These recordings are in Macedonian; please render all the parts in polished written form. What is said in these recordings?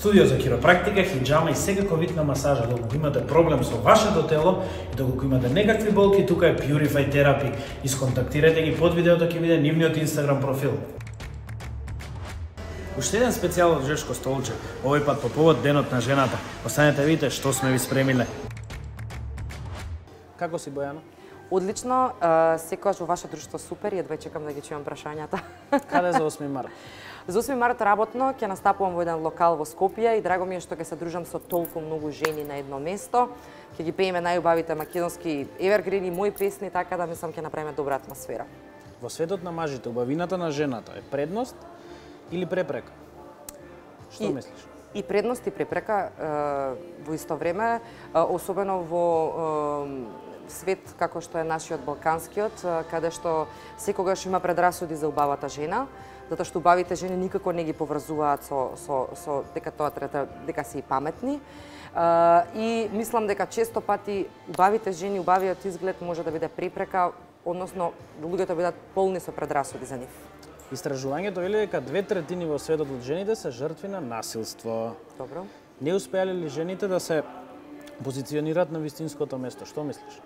Студио за хиропрактика, хиджама и секако вид на масажа. Доколку имате проблем со вашето тело и доколку имате некакви болки, тука е Purify Therapy. Исконтактирате ги под видеото, ќе биде нивниот Instagram профил. Уште еден специјал од Жешко столче, овој пат по повод Денот на жената. Останете видите што сме ви спремиле. Како си, Бојано? Одлично, секогаш во ваше друштво супер и едва чекам да ги чујам прашањата. Каде за 8 март? За 8 март работно ќе настапувам во еден локал во Скопје и драго ми е што ќе се дружам со толку многу жени на едно место. Ќе ги пееме најубавите македонски евергрини, мои песни, така да мислам ќе направиме добра атмосфера. Во светот на мажите, убавината на жената е предност или препрека? Што мислиш? И предност и препрека во исто време, особено во свет како што е нашиот балканскиот, каде што секогаш има предрасуди за убавата жена, затоа што убавите жени никако не ги поврзуваат со дека тоа треба дека се и паметни. И мислам дека често пати убавите жени, убавиот изглед може да биде препрека, односно луѓето бидат полни со предрасуди за нив. Истражувањето вели дека 2/3 во светот од жените се жртви на насилство. Добро. Не успеале ли жените да се позиционираат на вистинското место? Што мислиш?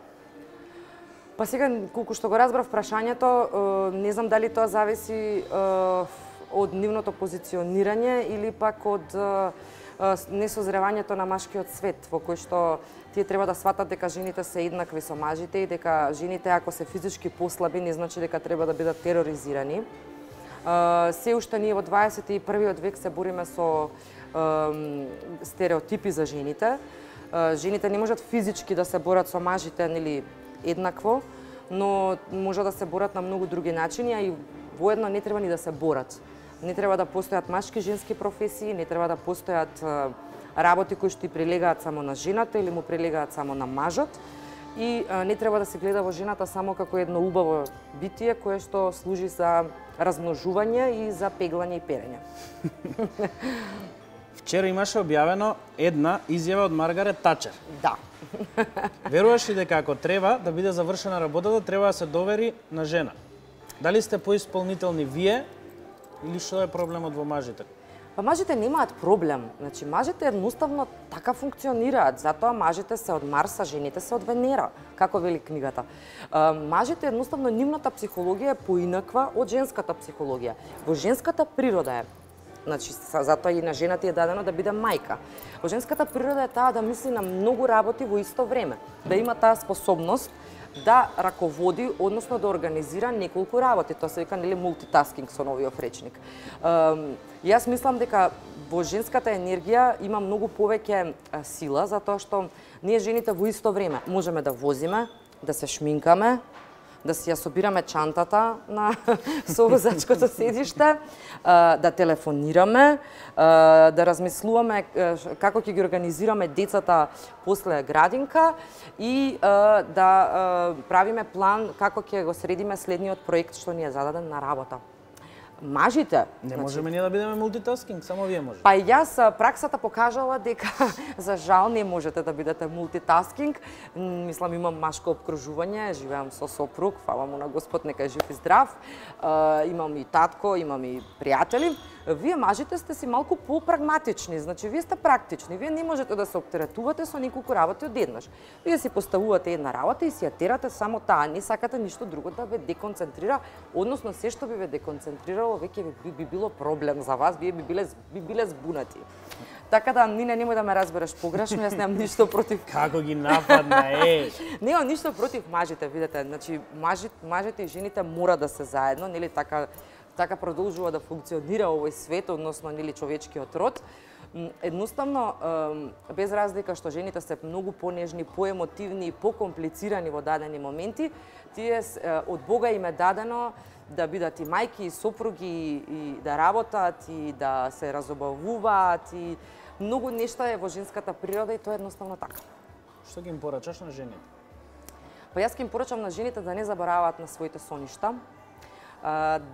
Па сега, колку што го разбрав прашањето, не знам дали тоа зависи од нивното позиционирање или пак од несозревањето на машкиот свет, во кој што тие треба да сватат дека жените се еднакви со мажите и дека жените ако се физички послаби не значи дека треба да бидат тероризирани. Се уште ние во 21. век се бориме со стереотипи за жените. Жените не можат физички да се борат со мажите, нели, еднакво, но може да се борат на многу други начини, а и воедно не треба ни да се борат. Не треба да постојат машки и женски професии, не треба да постојат работи кои што и прилегаат само на жената или му прилегаат само на мажот. И не треба да се гледа во жената само како едно убаво битие кое што служи за размножување и за пеглање и перење. Вчера имаше објавено една изјава од Маргарет Тачер. Да. Веруваш ли дека ако треба да биде завршена работата, треба да се довери на жена? Дали сте поисполнителни вие или што е проблемот во мажите? Па мажите немаат проблем. Значи, мажите едноставно така функционираат. Затоа мажите се од Марс, а жените се од Венера, како вели книгата. Мажите едноставно нивната психологија е поинаква од женската психологија. Во женската природа е. Значи, затоа и на жената е дадено да биде мајка. Во женската природа е таа да мисли на многу работи во исто време, да има таа способност да раководи, односно да организира неколку работи. Тоа се вика, нели, мултитаскинг со новиот речник. Јас мислам дека во женската енергија има многу повеќе сила, затоа што ние жените во исто време можеме да возиме, да се шминкаме, да си ја собираме чантата на со возачкото седиште, да телефонираме, да размислуваме како ќе ги организираме децата после градинка и да правиме план како ќе го средиме следниот проект што ни е зададен на работа. Мажите... Не можеме ние да бидеме мултитаскинг, само вие можете. Па јас праксата покажала дека за жал не можете да бидете мултитаскинг. Мислам, имам машко обкружување, живеам со сопруг, фала му на Господ, нека е жив и здрав. Имам и татко, имам и пријатели. Вие мажите сте си малку попрагматични, значи вие сте практични. Вие не можете да се оптеретувате со неколку работи одеднаш. Вие си поставувате една работа и си ја терате само таа, не сакате ништо друго да ве деконцентрира, односно се што би ве деконцентрирало веќе би било проблем за вас, вие би биле збунати. Така да, Нине, немој да ме разбереш погрешно, јас немам ништо против... Како ги нападна, Немам ништо против мажите, видете, значи мажите и жените мора да се заедно, нели така продолжува да функционира овој свет, односно нели човечкиот род. Едноставно, без разлика што жените се многу понежни, поемотивни и покомплицирани во дадени моменти, тие од Бога им е дадено да бидат и мајки, и сопруги, и да работат, и да се разобавуваат, и многу нешта е во женската природа и тоа е едноставно така. Што ги им порачаш на жените? Па јас ги им порачам на жените да не забораваат на своите соништа,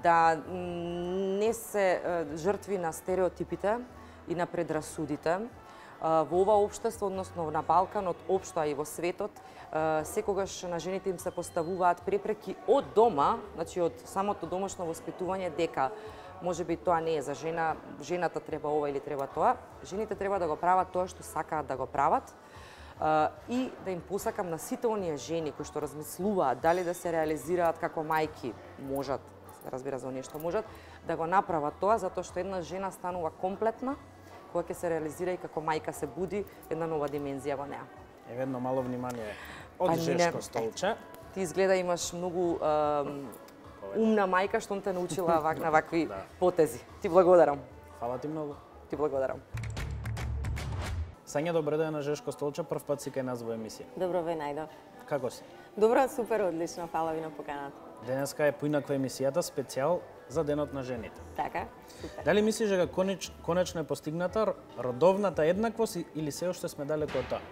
да не се жртви на стереотипите и на предрасудите. Во ова општество, односно на Балканот, општо и во светот, секогаш на жените им се поставуваат препреки од дома, значи од самото домашно воспитување, дека можеби тоа не е за жена, жената треба ова или треба тоа. Жените треба да го прават тоа што сакаат да го прават. И да им посакам на сите оние жени кои што размислуваат дали да се реализираат како мајки, можат, разбира за оние што можат, да го направат тоа, затоа што една жена станува комплетна, кога ќе се реализира и како мајка се буди една нова димензија во неа. Еве едно мало внимание од Жешко Столче. Ти изгледа имаш многу умна мајка што те научила на вакви потези. Ти благодарам. Фала ти многу. Ти благодарам. Сања, добро ден на Жешко Столче, прв пат си кај нас во емисија. Добро ве најдов. Како си? Добро, супер, одлично, фала ви на поканата. Денеска е поинаква емисијата, специјал за Денот на жените. Така, супер. Дали мислиш дека конечно е постигната родовната еднаквост или се уште сме далеку од тоа?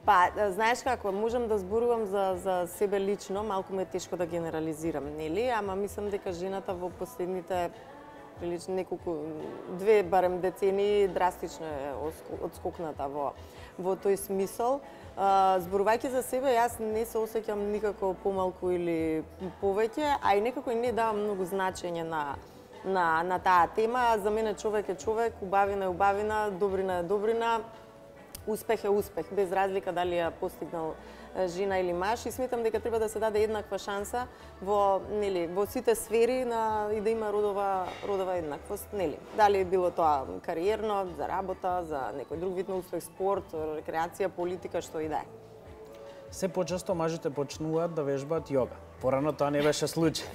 Па, знаеш како, можам да зборувам за себе лично, малку ме е тешко да генерализирам, нели? Ама мислам дека жената во последните прилично неколку, барем децении драстично е одскокната во тој смисол. Зборувајќи за себе, јас не се осеќам никако помалку или повеќе, а и некако и не давам многу значење на таа тема. За мене човек е човек, убавина е убавина, добрина е добрина, успех е успех, без разлика дали ја постигнал жена или маж, и сметам дека треба да се даде еднаква шанса во сите сфери и да има родова еднаквост, нели. Дали е било тоа кариерно, за работа, за некој друг вид на успех, спорт, рекреација, политика, што и да е. Се почесто мажите почнуваат да вежбаат јога. Порано тоа не беше случај.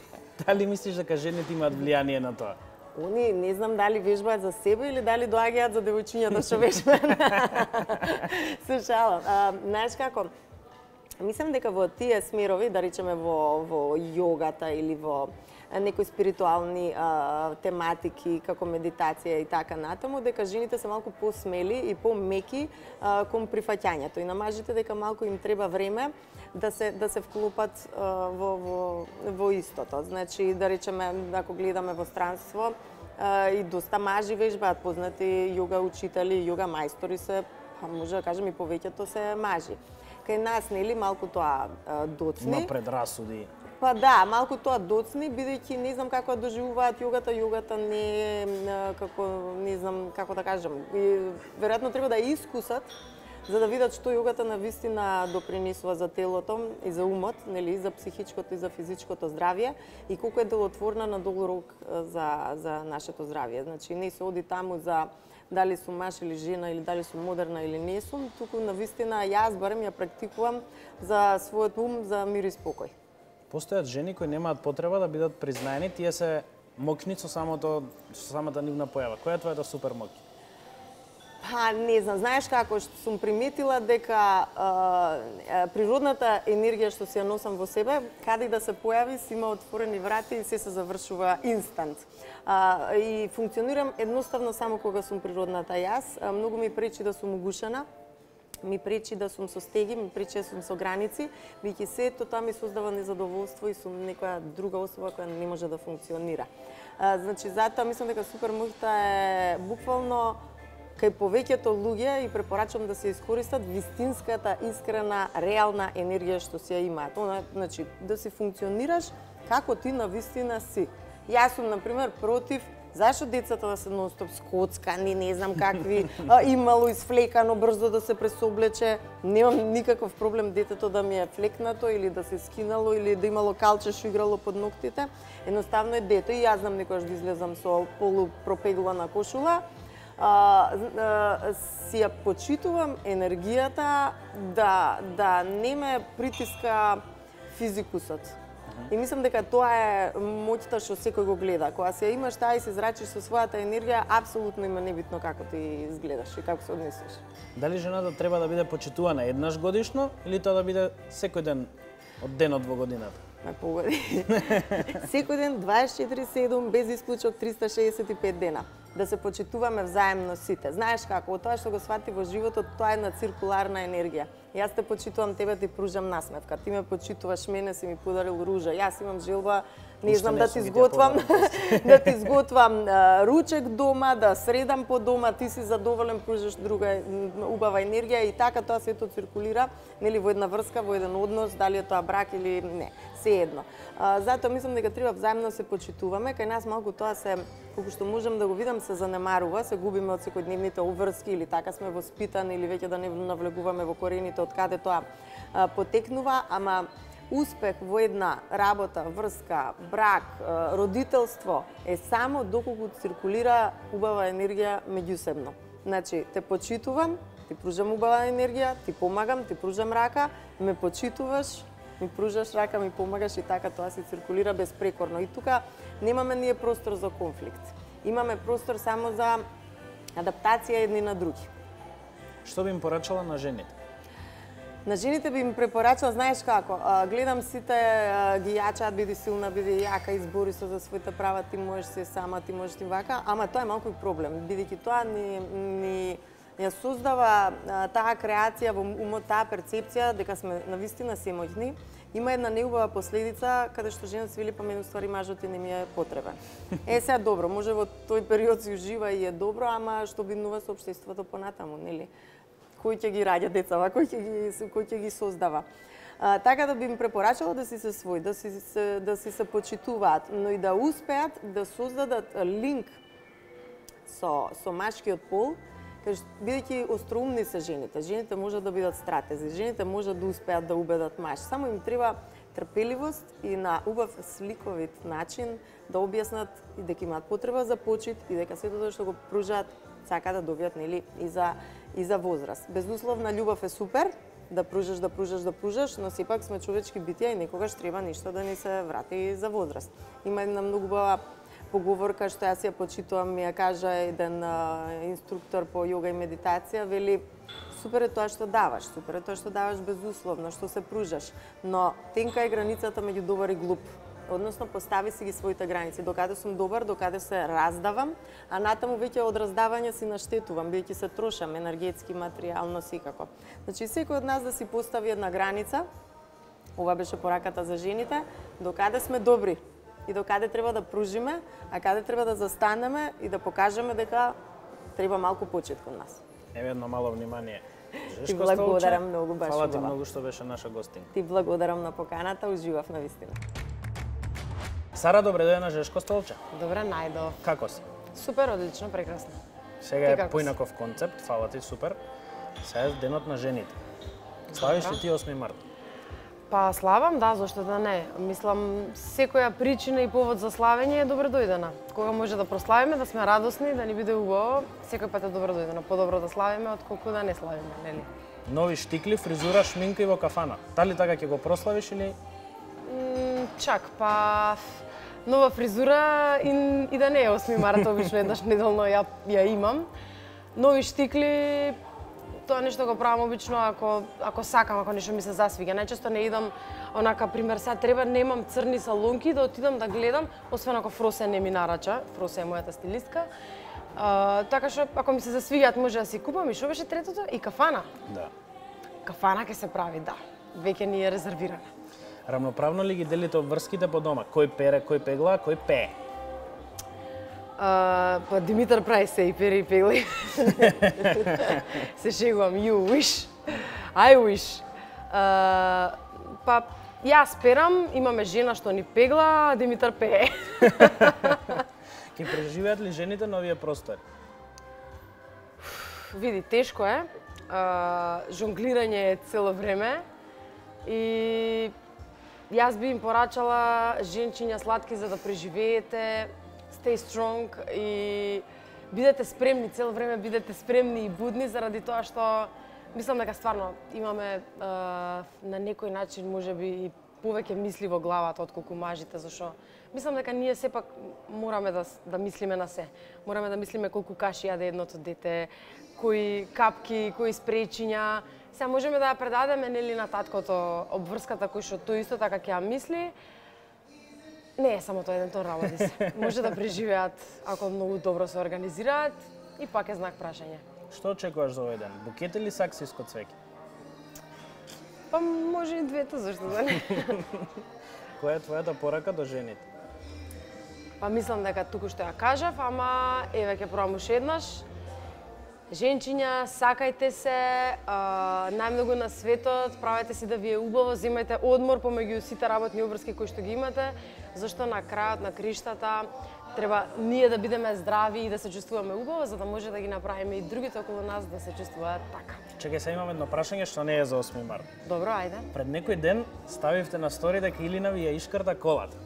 Дали мислиш дека жените имаат влијание на тоа? Они не знам дали вежбаат за себе или дали доаѓаат за девојчињата што вежбаат. Се шалам. Знаеш како, мислам дека во тие смерови, да речеме во јогата или во некои спиритуални тематики, како медитација и така натаму, дека жените се малку посмели и помеки кон прифаќањето. И на мажите дека малку им треба време да се вклопат во истото. Значи, да речеме, ако гледаме во странство, и доста мажи вежбаат, познати јога учители, јога мајстори се, може да кажем и повеќето се мажи. Кај нас, нели, малку тоа доцни. Има предрасуди. Па да, малку тоа доцни, бидејќи не знам како да доживуваат јогата. Јогата не е како, не знам како да кажам. И веројатно треба да ја искусат за да видат што јогата навистина допринесува за телото и за умот, нели, за психичкото и за физичкото здравје и колку е делотворна на долг рок за нашето здравје. Значи не се оди таму за дали сум маж или жена или дали сум модерна или не сум, туку навистина јас барем ја практикувам за својот ум, за мир и спокој. Постојат жени кои немаат потреба да бидат признаени, тие се мокни со самата нивна појава. Која е твојата супер моќ? Па, не знам, знаеш како, што сум приметила дека природната енергија што си ја носам во себе, каде и да се појави, си има отворени врати и се завршува инстант. И функционирам едноставно само кога сум природната јас. Многу ми пречи да сум угушена, ми пречи да сум со стеги, ми пречи да сум со граници, бидејќи сето тоа ми создава незадоволство и сум некоја друга особа која не може да функционира. Значи, затоа мислам дека супер моќта е буквално кај повеќето луѓе и препорачувам да се искористат вистинската, искрена, реална енергија што си ја имаат. Значи, да си функционираш како ти навистина си. Јас сум, например, против зашто децата да се нон-стоп скоцкани, не знам какви, имало изфлекано, брзо да се пресоблече. Немам никаков проблем детето да ми е флекнато или да се скинало или да имало калче што играло под ноктите. Едноставно е дете и јас знам некојаш да излезам со полупропеглана кошула. Си ја почитувам енергијата да не ме притиска физикусот. И мислам дека тоа е моќта што секој го гледа. Кога си ја имаш таа и се зрачиш со својата енергија, апсолутно има небитно како ти изгледаш и како се однесеш. Дали жената треба да биде почитувана еднаш годишно или тоа да биде секој ден од денот во годината? Ме погоди. Секој ден 24/7 без исклучок 365 дена. Да се почитуваме взаемно сите. Знаеш како, тоа што го свати во животот, тоа е една циркуларна енергија. Јас те почитувам тебе, ти пружам насмевка. Ти ме почитуваш мене, си ми подарил ружа. Јас имам желба, не знам, да ти изготвам да ти изготвам ручек дома, да средам по дома, ти си задоволен, пружаш друга убава енергија и така тоа сето циркулира, нели, во една врска, во еден однос, дали е тоа брак или не, се едно. Затоа мислам дека треба взаимно се почитуваме, кај нас малку тоа се, колку што можам да го видам, се занемарува, се губиме од секојдневните обврски или така сме воспитани или веќе да не навлегуваме во корените од каде тоа потекнува, ама успех во една работа, врска, брак, родителство е само доколку циркулира убава енергија меѓусебно. Значи, те почитувам, ти пружам убава енергија, ти помагам, ти пружам рака, ме почитуваш, ми пружаш рака, ми помагаш и така тоа се циркулира безпрекорно. И тука немаме ние простор за конфликт. Имаме простор само за адаптација едни на други. Што би им порачала на жените? На жените би им препорачала, знаеш како, гледам сите ги јачаат, биди силна, биди јака, избори се за своите права, ти можеш се сама, ти можеш ти вака, ама тоа е малку и проблем, бидејќи тоа ни ја создава таа креација во умот, таа перцепција дека сме навистина се моќни. Има една неубава последица каде што жената се вели, па мене ствари мажот и не ми е потребен. Сега добро, може во тој период си ужива и е добро, ама што бинува со општеството понатаму, нели? Кој ќе ги раѓа децава, кој ќе ги создава. Така да би им препорачала да си се свој, да си се почитуваат, но и да успеат да создадат линк со машкиот пол, бидејќи остроумни се жените. Жените можат да бидат стратези, жените можат да успеат да убедат маж. Само им треба трпеливост и на убав сликовит начин да објаснат и дека имаат потреба за почит и дека сето тоа што го пружаат сака да добијат, нели, и за возраст. Безусловна љубов е супер, да пружаш, но сепак сме човечки битија и некогаш треба нешто да ни се врати за возраст. Има една многу убава поговорка што јас ја почитувам, ми ја кажа еден инструктор по јога и медитација, вели, супер е тоа што даваш безусловно, што се пружаш, но тенка е границата меѓу добар и глуп. Односно, постави си ги своите граници. Докаде сум добар, докаде се раздавам, а натаму веќе од раздавање си наштетувам, бидејќи се трошам енергетски, материјално, секако. Значи, секој од нас да си постави една граница, ова беше пораката за жените, докаде сме добри и докаде треба да пружиме, а каде треба да застанеме и да покажеме дека треба малку почит кон нас. Еве едно мало внимание. Ти благодарам многу, баш Фала ти многу што беше наша гостин. Ти благодарам на поканата, уживав на вистина. Сара, добре дојде на Жешко столче. Добре, најдов. Како си? Супер, одлично, прекрасно. Сега е поинаков концепт, фала ти, супер. Сега е денот на жените. Славиш ли ти 8 март? Па славам, да, зашто да не. Мислам, секоја причина и повод за славење е добре дојдена. Кога може да прославиме, да сме радосни, да ни биде убаво, секој пат е добре дојдена. Подобро да славиме отколку да не славиме, нели? Нови штикли, фризура, шминка и во кафана. Дали така ќе го прославиш или? Чак, па нова фризура и да не е 8 март, обично еднаш неделно ја имам. Нови штикли, тоа нешто го правам обично ако сакам, ако нешто ми се засвига. Најчесто не идам онака, пример, сега треба, немам црни салонки да отидам да гледам, освен ако Фросе не ми нарача. Фросе е мојата стилистка. Така што ако ми се засвигаат може да си купам. И што беше третото? И кафана. Да. Кафана ќе се прави, да. Веќе ни е резервирана. Рамноправно ли ги делите обврските по дома? Кој пере, кој пегла, кој пее? Па Димитар прави се и пере и пегли. Се шегувам, you wish, I wish. Па јас перам, имаме жена што ни пегла, а Димитар пее. Ке преживеат ли жените на овие простори? Види, тешко е. Жонглирање е цело време. И јас би им порачала, женчиња сладки, за да преживеете, stay strong и бидете спремни, цело време бидете спремни и будни, заради тоа што мислам дека стварно имаме на некој начин можеби и повеќе мисли во главата отколку мажите, зашто мислам дека ние сепак мораме да мислиме на се. Мораме да мислиме колку каши јаде едното дете, кои капки, кои спречиња. Сега можеме да ја предадеме, нели, на таткото обврската кој што тој исто така ќе ја мисли. Не е само тоа еден тон работи се. Може да преживеат ако многу добро се организираат и пак е знак прашање. Што очекуваш за овој ден? Букет или саксиско цвеќе? Па може и двете, зашто да не? Која е твојата порака до жените? Па мислам дека туку што ја кажав, ама еве ќе пробам уште еднаш. Женчиња, сакајте се, најмногу на светот, правете си да ви е убаво, земајте одмор помеѓу сите работни обврски кои што ги имате, зашто на крајот на криштата треба ние да бидеме здрави и да се чувствуваме убаво, за да може да ги направиме и другите околу нас да се чувствуваат така. Чекај, сега имам едно прашање што не е за 8 март. Добро, ајде. Пред некој ден ставивте на стори дека Илина ви ја ишкрта колата.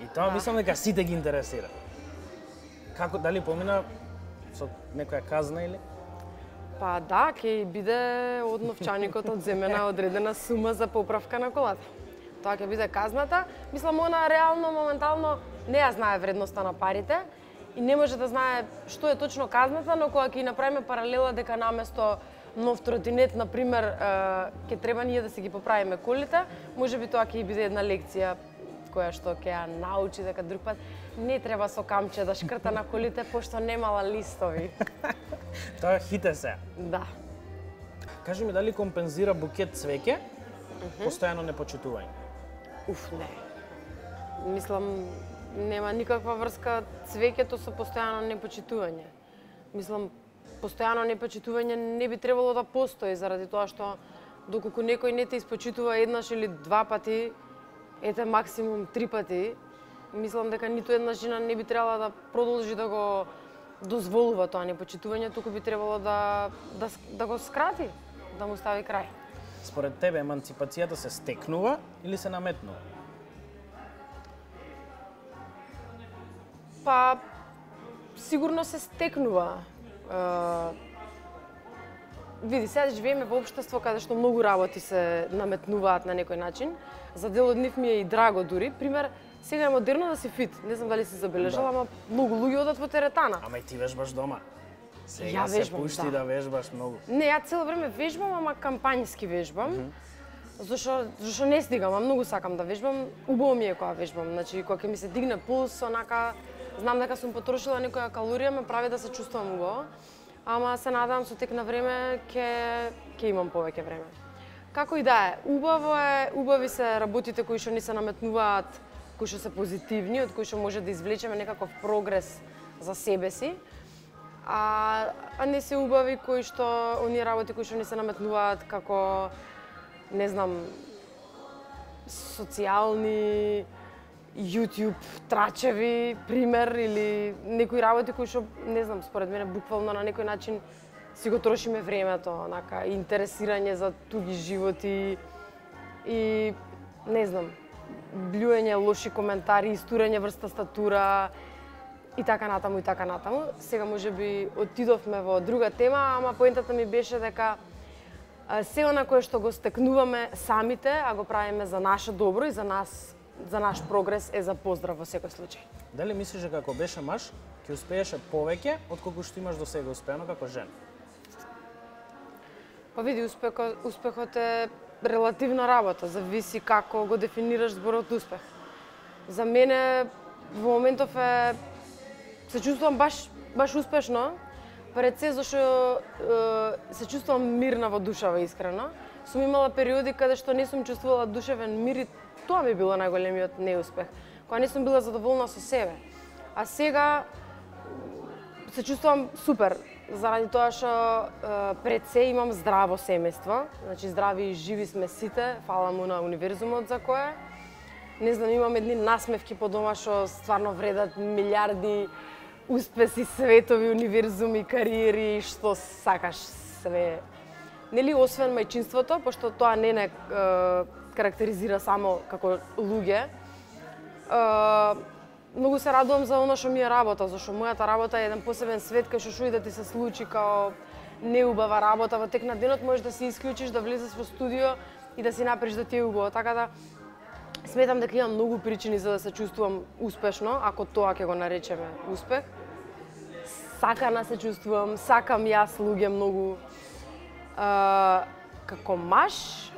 И тоа мислам дека сите ги интересира. Како, дали помина со некоја казна или? Па да, ќе биде од новчаникот одземена одредена сума за поправка на колата. Тоа ќе биде казната. Мислам, она реално, моментално не ја знае вредноста на парите и не може да знае што е точно казната, но кога ќе направиме паралела дека наместо нов тротинет, например, ќе треба ние да си ги поправиме колите, можеби тоа ќе биде една лекција која што ќе ја научи дека друг пат не треба со камче да шкрта на колите, пошто немала листови. Тоа хите се. Да. Кажи ми, дали компензира букет цвеќе постојано непочитување? Не. Мислам, нема никаква врска цвеќето со постојано непочитување. Мислам, постојано непочитување не би требало да постои, заради тоа што доколку некој не те испочитува еднаш или два пати, ете максимум 3 пати, мислам дека ниту една жена не би требала да продолжи да го дозволува тоа непочитување, туку би требало да го скрати, да му стави крај. Според тебе еманципацијата се стекнува или се наметнува? Па, сигурно се стекнува. Види, сега живееме во општество каде што многу работи се наметнуваат на некој начин. За дел од нив ми е и драго дури. Пример, сега е модерно да си фит. Не знам дали си забележала, ама многу луѓе одат во теретана. Ама и ти вежбаш дома. Сега Ја се вежбам, пушти да вежбаш многу. Не, ја цело време вежбам, ама кампањски вежбам. Зашо не стигам, а многу сакам да вежбам. Убаво ми е кога вежбам. Значи, кога ќе ми се дигне пулс, онака, знам дека сум потрошила некоја калорија, ме прави да се чувствувам убаво. Ама се надевам со тек на време ќе имам повеќе време. Како и да е, убави се работите кои што ни се наметнуваат, кои што се позитивни, од кои што може да извлечеме некаков прогрес за себе си. А не се убави кои што оние работи кои што ни се наметнуваат како, не знам, социјални, YouTube трачеви, пример, или некои работи кои што, не знам, според мене буквално на некој начин си го трошиме времето, онака, интересирање за туги животи и, не знам, блюење лоши коментари, истурење врз тастатура и така натаму, и така натаму. Сега можеби отидовме во друга тема, ама поентата ми беше дека се она кое што го стекнуваме самите, а го правиме за наше добро и за наш прогрес е за поздрав во секој случај. Дали мислиш дека ако беше маж, ќе успееше повеќе отколку што имаш до сега успеано како жена? Па види, успехот е релативна работа, зависи како го дефинираш зборот успех. За мене во моментов се чувствувам баш успешно, пред се зашто се чувствувам мирна во душава, искрено. Сум имала периоди каде што не сум чувствувала душевен мир и тоа ми било најголемиот неуспех, кога не сум била задоволна со себе. А сега се чувствувам супер, заради тоа што пред се имам здраво семејство, значи здрави и живи сме сите, фала му на универзумот за кое. Не знам, имам едни насмевки по дома што стварно вредат милиарди успеси, светови, универзуми, кариери, што сакаш све. Нели, освен мајчинството, пошто тоа не карактеризира само како луѓе, многу се радувам за оно што ми е работа, зашто мојата работа е еден посебен свет кај што и да ти се случи као неубава работа во тек на денот, можеш да се исклучиш, да влезеш во студио и да си направиш да ти е убаво. Така да сметам дека имам многу причини за да се чувствувам успешно, ако тоа ќе го наречеме успех. Сакана се чувствувам, сакам јас луѓе многу. Како маж,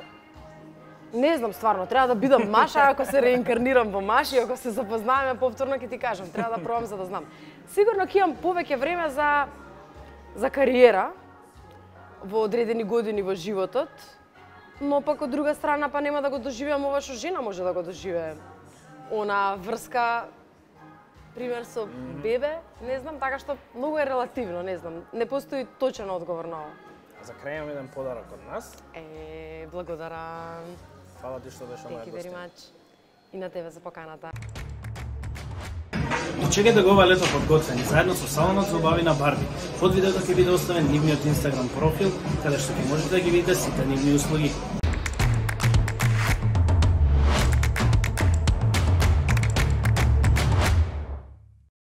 не знам стварно, треба да бидам маж, а ако се реинкарнирам во маж и ако се запознаваме повторно ќе ти кажам, треба да пробам за да знам. Сигурно ќе имам повеќе време за кариера во одредени години во животот, но пак од друга страна па нема да го доживеам ова што жена може да го доживее. Она врска, пример со бебе, не знам, така што многу е релативно, не знам. Не постои точен одговор на ова. За крај имам еден подарок од нас. Благодарам. Фала ти што беше моја Thank you very гостина. much. И на тебе за поканата. Дочекајте го ова лето подготвени заедно со салонот за убави на Барби. Под видеото ќе биде оставен нивниот Инстаграм профил, каде што ќе можете да ги видите сите нивни услуги.